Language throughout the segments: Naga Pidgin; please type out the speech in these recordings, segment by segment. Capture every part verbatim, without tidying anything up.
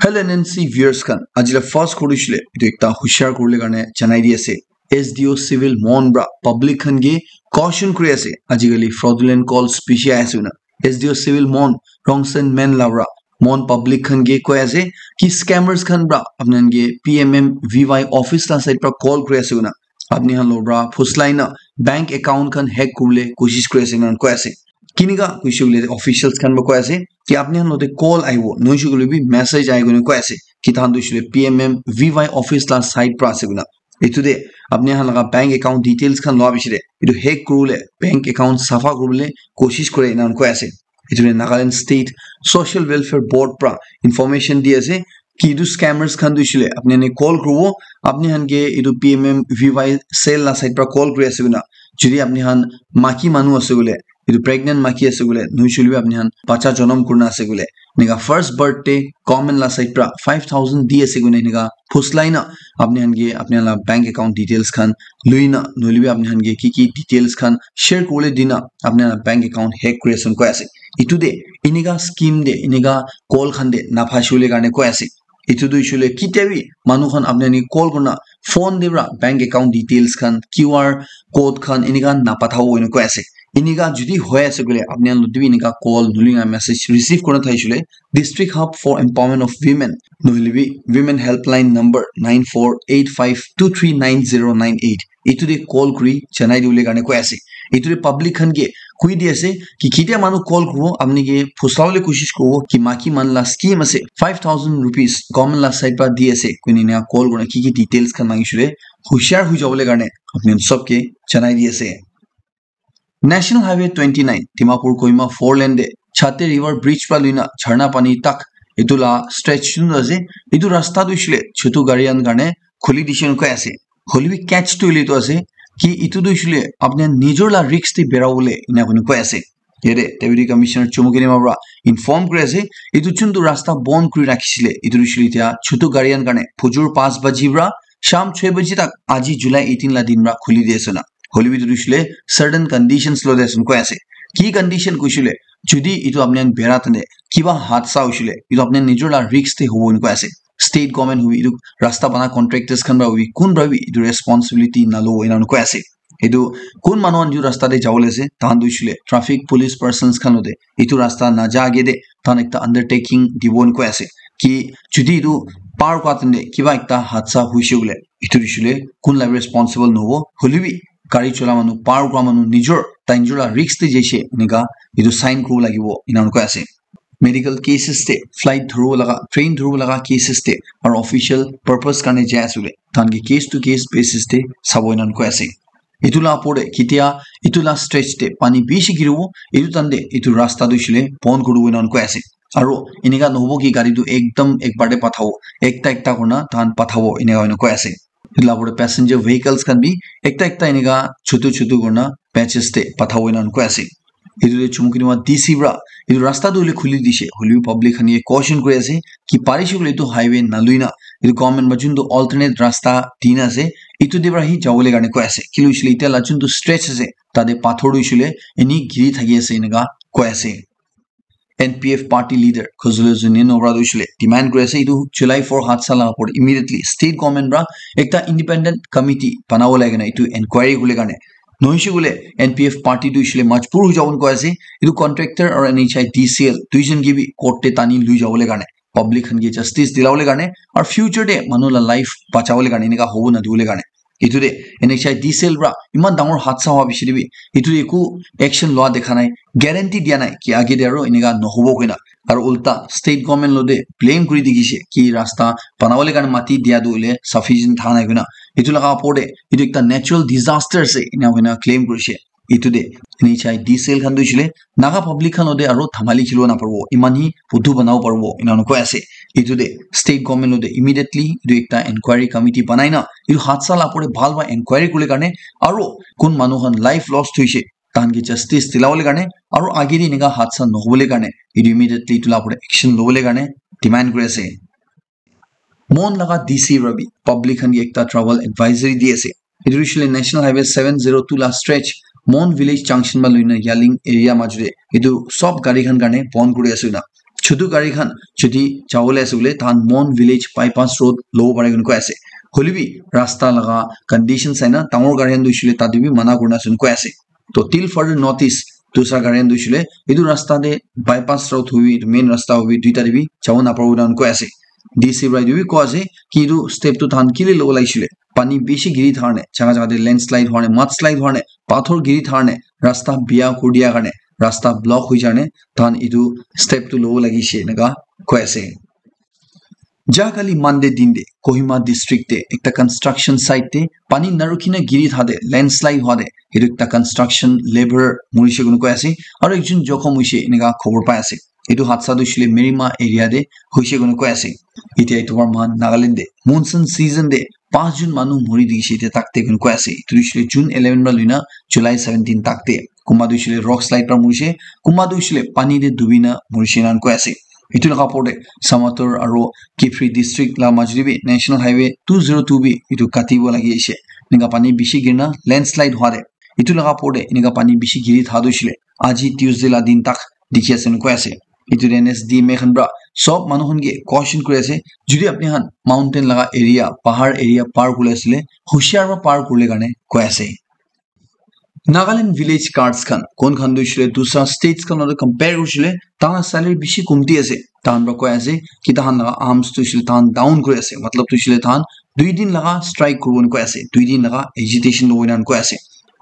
L N N C viewers khan, aji la first khuri shile, etu ekta hushar kuribole karne janai di ase. S D O Civil Mon pra public khan ke caution kuri ase. Ajikali fraudulent calls bishi ahi ase koina. S D O Civil Mon, Rongsen Men la pra Mon public khan ke koi ase ki scammers khan pra apni khan ke P M M V Y office la side pra call kuri ase koina. Apni khan lo pra phuslai na bank account khan hack kuribole koshish kuri ase koina koi ase. Kinika koishe koile officials khan pra koi ase ki apni khan lote call ahibo, nohoishe koile bi message ahi koina koi ase ki tahan tu hoishe koile P M M V Y office la side pra ase koina. Etu te apni khan laga bank account details khan loa piche te etu hack kuribole, bank account safa kuribole koshish kore ena koi ase. Etu te Nagaland State Social Welfare Board pra information di ase ki etu scammers khan tu hoishe koile apni khan ke call kuribo, apni khan ke etu P M M V Y cell la side pra call kuri ase koina. Jodi apni khan maki manu ase koile, etu pregnant maki ase koile, nohoishe koile bi apni khan bacha jonom kurina ase koile, enika first birth te government la side pra five thousand di ase koina enika phuslai na apni khan ke apni khan la bank account details khan lui na, nohoile bi apni khan ke ki ki details khan share kuribole di na apni khan la bank account hack kuri ase koi ase. Etu te enika scheme te, enika call khan te na phasibole karne koi ase. Etu tu hoishe koile kitia bi manu khan apni khan ke call kurina phone te pra bank account details khan, Q R code khan enika na pathabo koina koi ase. Enika jodi hoi ase koile apni khan lote bi enika call nohoile na message receive kurina thaishe koile District Hub for Empowerment of Women nohoile bi Women Helpline number nine four eight five two three nine zero nine eight, etu te call kuri janai dibole karne koi ase. Etu te public khan ke koi di ase ki kitia manu call kuribo, apni ke phuslabole koshish kuribo ki maki manu la scheme ase, five thousand rupees government la side pra di ase koina enika call kurina ki ki details khan mangishe koile hushar hoi jabole karne apni khan sob ke janai di ase. National Highway twenty nine, Dimapur Kohima four lane te Chate River Bridge pra luina Jharna Pani tak etu la stretch chun ase. Etu rasta tu hoishe koile chotu gari khan karne khuli dishe koina koi ase. Hoilebi catch tu hoile tu ase ki etu tu hoishe koile apni khan nijor la risk te berabole ena koina koi ase. Yate Deputy Commissioner Chumukedima pra inform kuri ase, etu chun tu rasta bon kuri rakhishe koile, etu tu hoishe koile etia chotu gari khan karne phujur panch baji pra sham chhe baji tak aji July eighteen la din pra khuli di ase koina. Hoilebi etu tu hoishe koile certain conditions lote ase koina koi ase. Ki condition koishe koile, jodi etu apni khan bera tane kiba hadsa hoishe koile, etu apni khan nijor la risk te hobo koina koi ase. State government hobi, etu rasta bana contractors khan pra hobi, kun pra bi etu responsibility nalobo ena koi ase. Etu kun manu khan etu rasta te jabole ase, tahan tu hoishe koile traffic police persons khan lote etu rasta naja age te tahan ekta undertaking dibo koina koi ase ki jodi etu par kura time te kiba ekta hadsa hoishe koile, etu hoishe koile kun la responsible nohobo, hoilebi gari chola manu, par kura manu nijor, tai nijor la risk te jaise enika etu sign kuribo lagibo ena koi ase. Medical cases te, flight dhuribo laga, train dhuribo laga cases te, aru official purpose karne jai ase koile, tahan ke case to case basis te sabo ena koi ase. Etu la opor te kitia etu la stretch te pani bishi giribo, etu time te etu rasta tu hoishe koile bon kuribo ena koi ase. Aru enika nohobo ki gari tu ekdam ek bar te pathabo, ekta ekta kurina tahan pathabo enika hoina koi ase. Etu la opor te passenger vehicles khan bi ekta ekta enika chotu chotu kurina batches te pathabo ena koi ase. Etu te Chumukedima D C pra etu rasta tu hoile khuli dishe, hoilebi public khan ke caution kuri ase ki parishe koile etu highway nalui na etu government pra jun tu alternate rasta dina ase, etu te pra hi jabole karne koi ase. Kile hoishe koile etia la jun tu stretch ase, tate pathor tu hoishe koile eni giri thaki ase enika koi ase. N P F party leader Khuzulu Zunino pra tu hoishe koile demand kuri ase, etu July four hadsa la opor immediately state government pra ekta independent committee banabo lage na etu inquiry kuribole karne. Nohoishe koile N P F party tu hoishe koile majbur hoi jabo koi ase, etu contractor aru N H I D C L duijon ke bi court te tani lui jabole karne, public khan ke justice dilabole karne, aru future te manu la life bachabole karne, enika hobo nadibole karne. Etu te N H I D C L pra iman dangor hadsa howa piche te bi etu te eku action loa dekha nai, guarantee dia nai ki age te aru enika nohobo koina. Aru ulta state government lote blame kuri dikhishe ki rasta banabole karne mati dia tu hoile sufficient tha nai koina. Etu laga opor te etu ekta natural disaster ase ena koina claim kurishe. Etu te N H I D C L khan tu hoishe koile Naga public khan lote aru dhamali khilibo naparibo, iman hi buddhu banabo paribo ena koi ase. Etu te state government lote immediately etu ekta inquiry committee banai na etu hadsa la opor te bhal para inquiry kuribole karne aru kun manu khan life lost hoishe tahan ke justice dilabole karne aru age te enika hadsa nohobole karne etu immediately etu la opor te action lobole karne demand kuri ase. Mon laga D C pra bi public khan ke ekta travel advisory di ase. Etu hoishe koile National Highway seven zero two la stretch Mon village junction pra loina Yaling area majute etu sob gari khan karne bon kuri ase koina. chutu gari khan jodi jawole ase koile tahan Mon Village bypass road lobo pare koi ase. Hoilebi rasta laga condition saina dangor gari khan tu hoishe koile tate bi mana kurina ase koi ase. To till further notice, dusra gari khan tu hoishe koile etu rasta te bypass road hobi, etu main rasta hobi, duita te bi jabo naparibo enakan koi ase. D C para etu bi koi ase ki etu step tu tahan kile lobo lagise koile pani bishi giri thakane, jaga jaga te landslide hoine, mudslide hoine, pathor giri thakane, rasta biya kuri dia karne, rasta block hoi jane, tahan etu step tu lobo lagise enaga koi ase. Ja kali Monday din te Kohima district te ekta construction site te pani narukhi na giri thade landslide hwa de etu ekta construction labour murishe koi ase aru ekjon jokhom hoishe enaga khobor pai ase. Etu hadsa tu hoishe koile Merima area te hoishe koi ase. Etia etu para moikhan Nagaland te monsoon season te pas jon manu muri dikhi se etia tak te koi ase. Etu tu hoishe koile June eleven para loina July seventeen tak te. Kunba tu hoishe koile rock slide para murishe, kunba tu hoishe koile pani te dubi na murishe enakan koi ase. Etu laga opor te Samator aru Kiphire district laga majot te bi National Highway two zero two bi etu katibo lagi ase. Enaga pani bishi girina landslide hwa de. Etu laga opor te enaga pani bishi giri tha tu hoishe koile aji Tuesday la din tak dikhi ase enakan koi ase. Etu te N S D M A khan para sob manu khan ke caution kuri ase, jodi apni khan mountain laga area, pahar area par kuri ase koile, hushiar para par kuri le karne koi ase. Nagaland village guards khan, kon khan tu hoishe koile dusra states khan loi compare kuri shile, tahan la salary bishi kumti ase. Tahan para koi ase ki tahan laga arms tu hoishe koile tahan down kuri ase, matlab tu hoishe koile tahan dui din laga strike kuribo enakan koi ase, dui din laga agitation lobo enakan koi ase.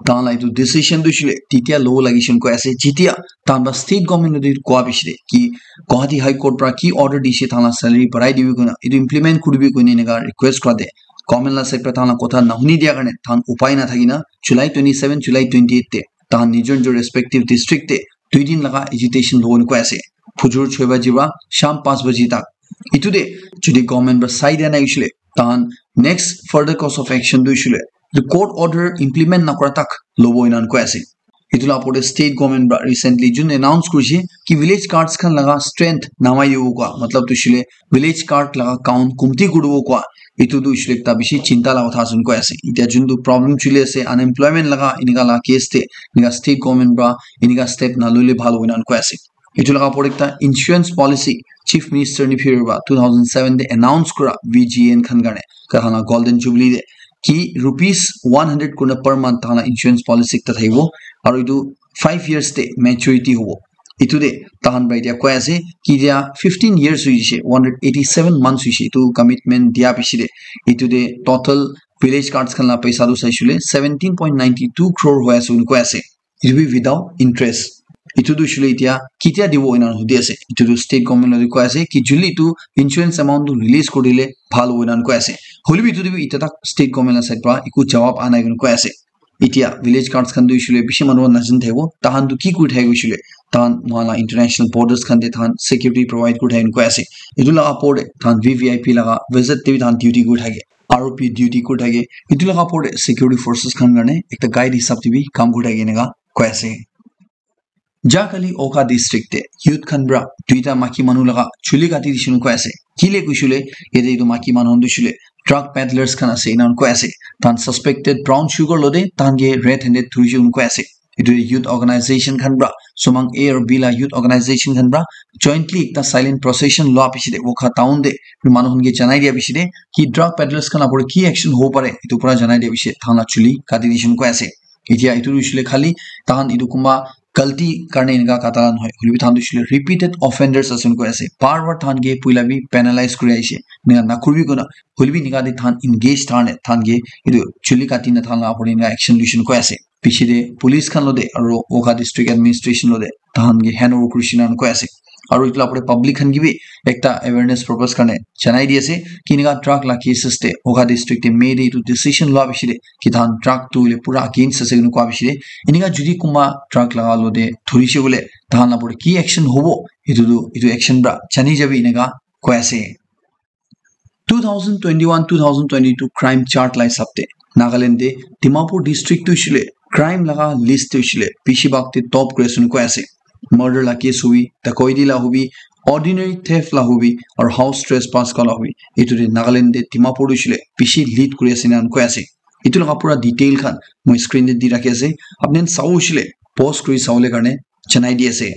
Tahan la etu decision tu hoishe koile titia lobo lagise enakan koi ase, jitia tahan para state government te koa bishi de ki Guwahati High Court para ki order dise tahan la salary barai dibi koina, etu implement kuribi koina enaga request kura de. Government la side para tahan la kotha nahuni dia karne tahan upai nathaki na July twenty seven, July twenty eight te tahan nijor nijor respective district te dui din laga agitation lobo enakan koi ase. Phujur choi baji para sham panch baji tak. Etu te jodi government para sai dia nai hoishe koile, tahan next further course of action tu hoishe koile etu court order implement nakura tak lobo enakan koi ase. Etu la opor te state government para recently jun announce kurishe ki village guards khan laga strength namai dibo koi, matlab tu hoishe koile village guard laga count kumti kuribo koi, etu tu hoishe koile ekta bishi chinta laga kotha ase enakan koi ase. Etia jun tu problem chuli ase unemployment laga enaga la case te, enaga state government para enaga step nalole bhal hobo enakan koi ase. Etu laga opor ekta insurance policy Chief Minister Neiphiu Rio para two thousand seven te announce kura V G N khan karne, tahan la Golden Jubilee te ki rupees one hundred kurna per month tahan la insurance policy ekta thakibo aru etu five years te maturity hobo. Etu te tahan para etia koi ase ki etia fifteen years hoishe, one hundred eighty seven months hoishe etu commitment dia piche te. Etu te total village guards khan la paisa tu saishe koile seventeen point nine two crore hoi ase enakan koi ase. It will be without interest. Etu tu hoishe koile etia ketia dibo enakan hudi ase. Etu tu state government loi koi ase ki juli tu insurance amount tu release kuri dile bhal hobo enakan koi ase. Hoilebi etu tu bi etia tak state government la side para eku jawab aha nai enakan koi ase. Etia village guards khan tu hoishe koile bishi manu khan najani thakibo. Tahan tu ki kuri thake hoishe koile, tahan moikhan la international borders khan te tahan security provide kuri thake enakan koi ase. Etu laga opor te tahan V V I P laga visit te bi tahan duty kuri thake. R O P duty kuri thake. Etu laga opor te security forces khan karne ekta guide hisab te bi kam kuri thake enakan koi ase. Ja kali Wokha district te youth khan para duita maki manu laga chuli kati dishe enakan koi ase. Kile koishe koile, yate etu maki manu khan tu hoishe koile drug peddlers khan ase enakan koi ase. Tahan suspected brown sugar lode tahan ke red handed dhurishe enakan koi ase. Etu youth organization khan para, Sumang A aru B la youth organization khan para jointly ekta silent procession lua piche te Wokha town te manu khan ke janai dia piche te ki drug peddlers khan la opor te ki action hobo pare, etu para janai dia piche tahan la chuli kati dishe enakan koi ase. Etia etu tu hoishe koile khali tahan etu kunba galti karne enakan kata la nohoi. Hoilebi tahan tu hoishe koile repeated offenders ase enakan koi ase. Bar bar tahan ke puila bi penalize kuri aishe. Enakan nakuribi koina. Hoilebi enakan te tahan engage thakane tahan ke etu chuli kati na tahan la opor te enakan action loishe enakan koi ase. Piche te police khan lode aru Wokha district administration lode tahan ke hand over kurishe enakan koi ase. Aru etu la opor te public khan ke bi ekta awareness purpose karne janai di ase ki enakan drug la cases te Wokha district te May te etu decision lua piche te ki tahan drug tu hoile pura against ase enakan koi piche te enakan jodi kunba drug laga lode dhurishe koile tahan la opor te ki action hobo, etu tu etu action para jani jabi enakan koi ase. Two thousand twenty-one two thousand twenty-two crime chart la hisab te Nagaland te Dimapur district tu hoishe koile crime laga list te hoishe koile bishi bhag te top kuri ase enakan koi ase. Murder la case hobi, dacoity la hobi, ordinary theft la hobi, aru house trespass kala hobi, etu te Nagaland te Dimapur tu hoishe koile bishi lead kuri ase enakan koi ase. Etu laga pura detail khan moi screen te di rakhi ase, apni khan sabo hoishe koile pause kuri sabole karne janai di ase.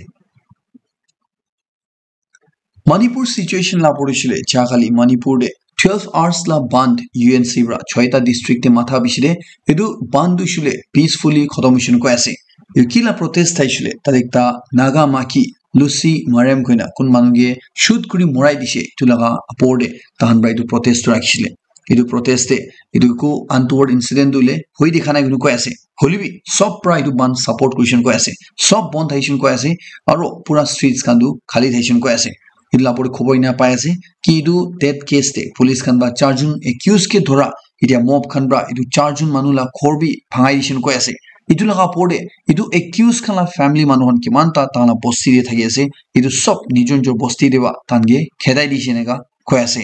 Manipur situation la pori shile, ja kali Manipur de twelve hours la bandh U N C pra choita district te matha bishi de, etu bandh tu shile peacefully khotom hoishe koi ase. Etu ki la protest thai shile, tate ekta Naga maki Lucy Marem koina kun manu ke shoot kuri morai dishe, etu laga apor de tahan pra etu protest tu rakhi shile. Etu protest te etu eku untoward incident tu le hoi dikha nai koi ase. Hoile bi sob pra etu bandh support kurishe koi ase. Sob bandh thaishe koi ase. Aro pura streets khan tu khali thaishe koi ase. Etu la opor te khobor ena pai ase ki etu death case te police khan pra charjon accused ke dhora, etia mob khan pra etu charjon manu la ghor bi bhangai dishe koi ase. Etu laga opor te etu accused khan la family manu khan kiman ta tahan la bosti te thaki ase. Etu sob nijor nijor bosti te pra tahan ke khedai dishe eneka koi ase.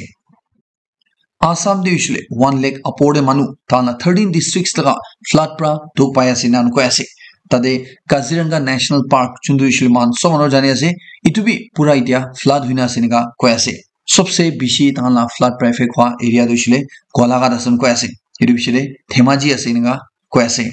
Assam te hoishe le one lakh apor te manu tahan la thirteen districts laga flood pra dukh pai ase ena koi ase. Tate Kaziranga National Park, juntu hoishe le moikhan sob manu jani ase, etu bi pura etia flood hoina ase eneka koi ase. Sobse bishi tahan la flood pra effect hua area tu hoishe le Golaghat ase koi ase. Etu hoishe le Dhemaji ase eneka koi ase.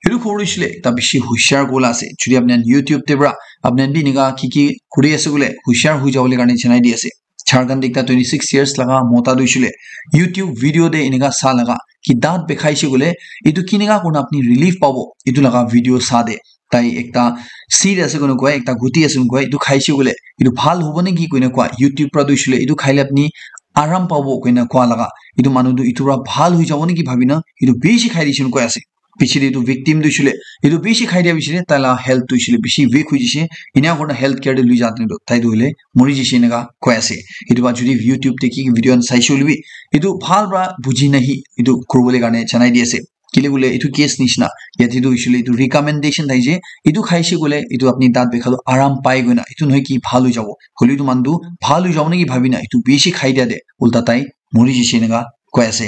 Etu khobor hoishe le ekta bishi hushiar gola ase. Jodi apni khan YouTube te pra apni khan bi enika ki ki kuri ase koile hushiar hoi jabo le karne janai di ase. Jharkhand ekta twenty six years laga mota tu hoishe le YouTube video te enika sa laga ki daat bekhaishe koile etu kineka kurina apni relief pabo, etu laga video sa de tai ekta seed ase koina koi, ekta guti ase koina koi, etu khaishe koile etu bhal hobo neki koina koa, YouTube pra tu hoishe le etu khaile apni aram pabo koina koa laga, etu manu tu etu pra bhal hoi jabo neki bhabina etu bishi khai dishe koina koi ase. Piche te etu victim tu hoishe le etu bishi khai dia piche te tai la health tu hoishe le bishi weak hoi jai se. Ena kurina health care te lui ja te tu tai tu hoile mori jai se eneka koi ase. Etu pra jodi YouTube te ki ki video khan saishe hoile bi etu bhal pra buji nahi etu kuribole karne janai di ase. Kile koile etu case nishina yate tu hoishe le etu recommendation thai je, etu khaishe koile etu apni daat bekha tu aram pai koina, etu nohoi ki bhal hoi jabo. Hoile etu manu tu bhal hoi jabo neki bhabina etu bishi khai dia te ulta tai mori jai se eneka koi ase.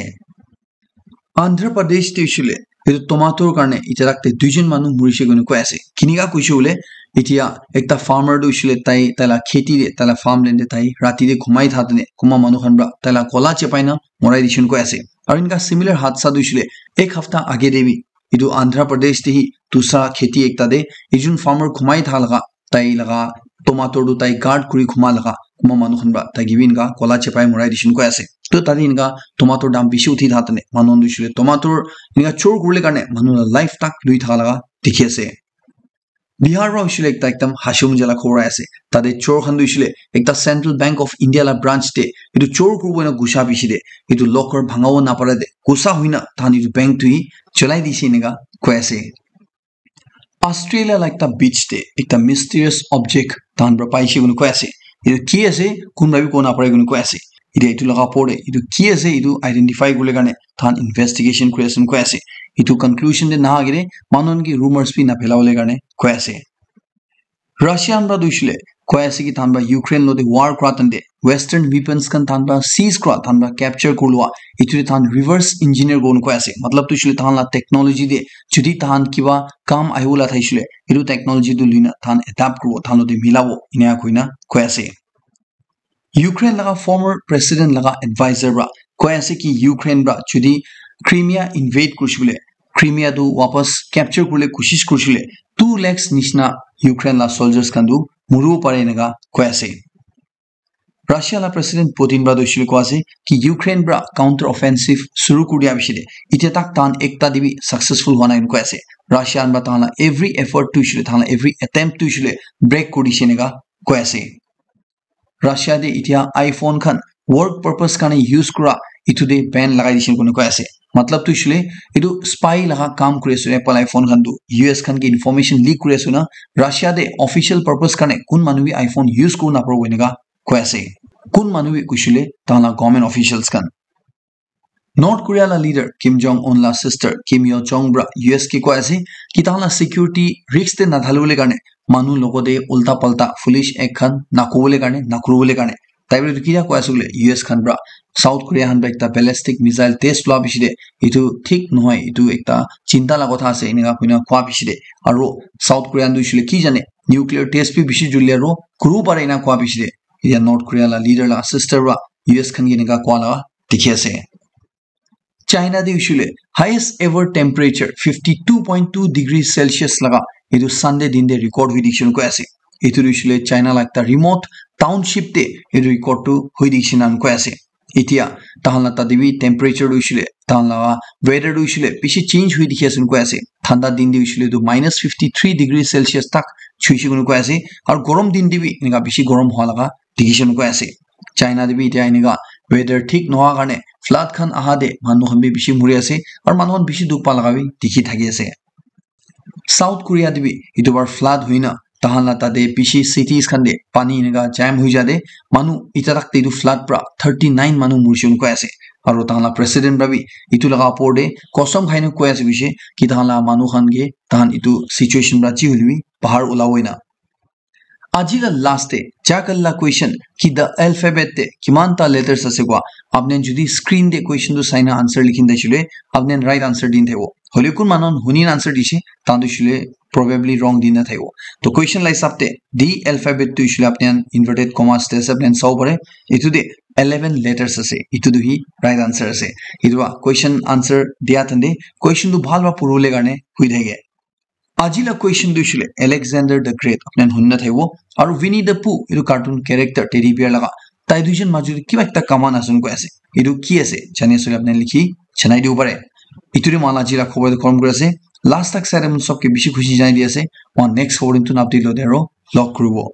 Andhra Pradesh te hoishe le etu tomato karne etiya tak te duijon manu morishe koina koi ase. Kineka koishe koile etiya ekta farmer tu hoishe le tai, tai la kheti te, tai la farmland te tai rati te ghumai tha tene kunba manu khan pra tai la gola chepai na morai dishe koina koi ase. Aru eneka similar hadsa tu hoishe le ek hafta age te bi etu Andhra Pradesh te hi dusra kheti ekta te ekjon farmer ghumai tha laga tai laga tomato tu tai guard kuri ghuma laga kunba manu khan pra tai ke bi eneka gola chepai morai dishe koina koi ase. To tate eneka tomato dam bishi uthi tha tene manu khan tu hoishe le tomato eneka chor kuribole karne manu la life tak lui tha laga dikhi ase. Bihar pra hoishe le ekta ekdam hashum jala khobor ase. Tate chor khan tu hoishe le ekta Central Bank of India la branch te etu chor kuribo ena gusha piche te etu locker bhangabo napare te gusa hoina tahan etu bank tu hi cholai dishe eneka koi ase. Australia la ekta beach te ekta mysterious object tahan pra paishe koina koi ase. Etu ki ase, kunba bi kobo napare koina koi ase. Etiya etu laga opor te etu ki ase, etu identify kuribole karne tahan investigation kuri ase koina koi ase. Etu conclusion te naha agete manu khan ke rumors bi naphelabole karne koi ase. Russia khan pra tu hoishe le koi ase ki tahan pra Ukraine lo te war kura time te Western weapons khan tahan pra seize kura, tahan pra capture kuri lua, etu te tahan reverse engineer kuribo koi ase. Matlab tu hoishe le tahan la technology te jodi tahan kiba kam ahibola thaishe le etu technology tu luina tahan adapt kuribo, tahan lo te milabo, eneka koina koi ase. Ukraine laga former president laga advisor pra koi ase ki Ukraine pra jodi Crimea invade kurishe koile, Crimea tu wapas capture kuribole koshish kurishe koile two lakhs nishina Ukraine la soldiers khan tu muribo pare eneka koi ase. Russia la president Putin pra tu hoishe koile koi ase ki Ukraine pra counter offensive shuru kuri dia piche te etiya tak tahan ekta te bi successful hua nai koi ase. Russia khan pra tahan la every effort tu hoishe koile, tahan la every attempt tu hoishe koile break kuri dishe eneka koi ase. Russia te etiya iPhone khan work purpose karne use kura etu te ban lagai dishe koina koi ase. Matlab tu hoishe koile etu spy laga kam kuri ase Apple iPhone khan tu U S khan ke information leak kuri ase na, Russia te official purpose karne kun manu bi iPhone use kuribo naparibo eneka koi ase. Kun manu bi hoishe koile tahan la government officials khan. North Korea la leader Kim Jong Un la sister Kim Yo Jong pra U S ke koi ase ki tahan la security risk te nadhalibole karne manu logot te ulta palta foolish act khan nakobole karne, nakuribole karne. Tai pra etu kiya koi ase koile U S khan pra South Korea khan pra ekta ballistic missile test lua piche te etu thik nohoi, etu ekta chinta la kotha ase eneka koina koa piche te, aro South Korea khan tu hoishe koile ki jane nuclear test bi bishi joldi aro kuribo pare eneka koa piche te etiya North Korea la leader la sister pra U S khan ke eneka koa la dikhi ase. China te hoishe koile highest ever temperature fifty two point two degree Celsius laga etu Sunday din te record hoi dishe koina koi ase. Etu tu hoishe koile China la ekta remote township te etu record tu hoi dikhi na koi ase. Etia tahan la tate bi temperature tu hoishile, tahan la weather tu hoishile bishi change hoi dikhi ase koi ase. Thanda din te hoishile tu minus fifty three degree Celsius tak chuise koi ase. Aru gorom din te bi enika bishi gorom hua laga dikhi ase koi ase. China te bi etia enika weather thik nohoa karne flood khan aha te manu khan bi bishi muri ase aru manu khan bishi dukh pa laga bi dikhi thaki ase. South Korea te bi etu bar flood hoina tahan la tate bishi cities khan te pani enika jam hoi jate manu eta tak te etu flood pra thirty nine manu murishe koi ase. Aru tahan la president pra bi etu laga opor te kostom khai na koi ase koishe ki tahan la manu khan ke tahan etu situation pra chi hoile bi bahar ulabo na. Aji la last te jakal la question ki the alphabet te kiman ta letters ase koi apni jodi screen te question tu sai na answer likhin dai shile apni right answer din thaibo. Hole kun manu huni answer dishe tahan tu shile probably wrong din na thaibo. To question la hisab te the alphabet tu shile apni inverted commas te ase apni sabo pare. Etu te eleven letters ase. Etu tu hi right answer ase. Etu question answer dia thande question tu bhal ba purule karne hui thake. Aji la question tu shile Alexander the Great apni huni na thaibo. Aru Winnie the Pooh etu cartoon character teddy bear laga tai duijon majot kiba ekta kaman ase koi ase. Etu ki ase jani ase apni likhi janai dibo pare. Etu te mala aji la khobor tu khom kuri ase. Last tak sare mun sob ke bishi khushi janai di ase. Aru next khobor tu napdi lo dero log kuribo.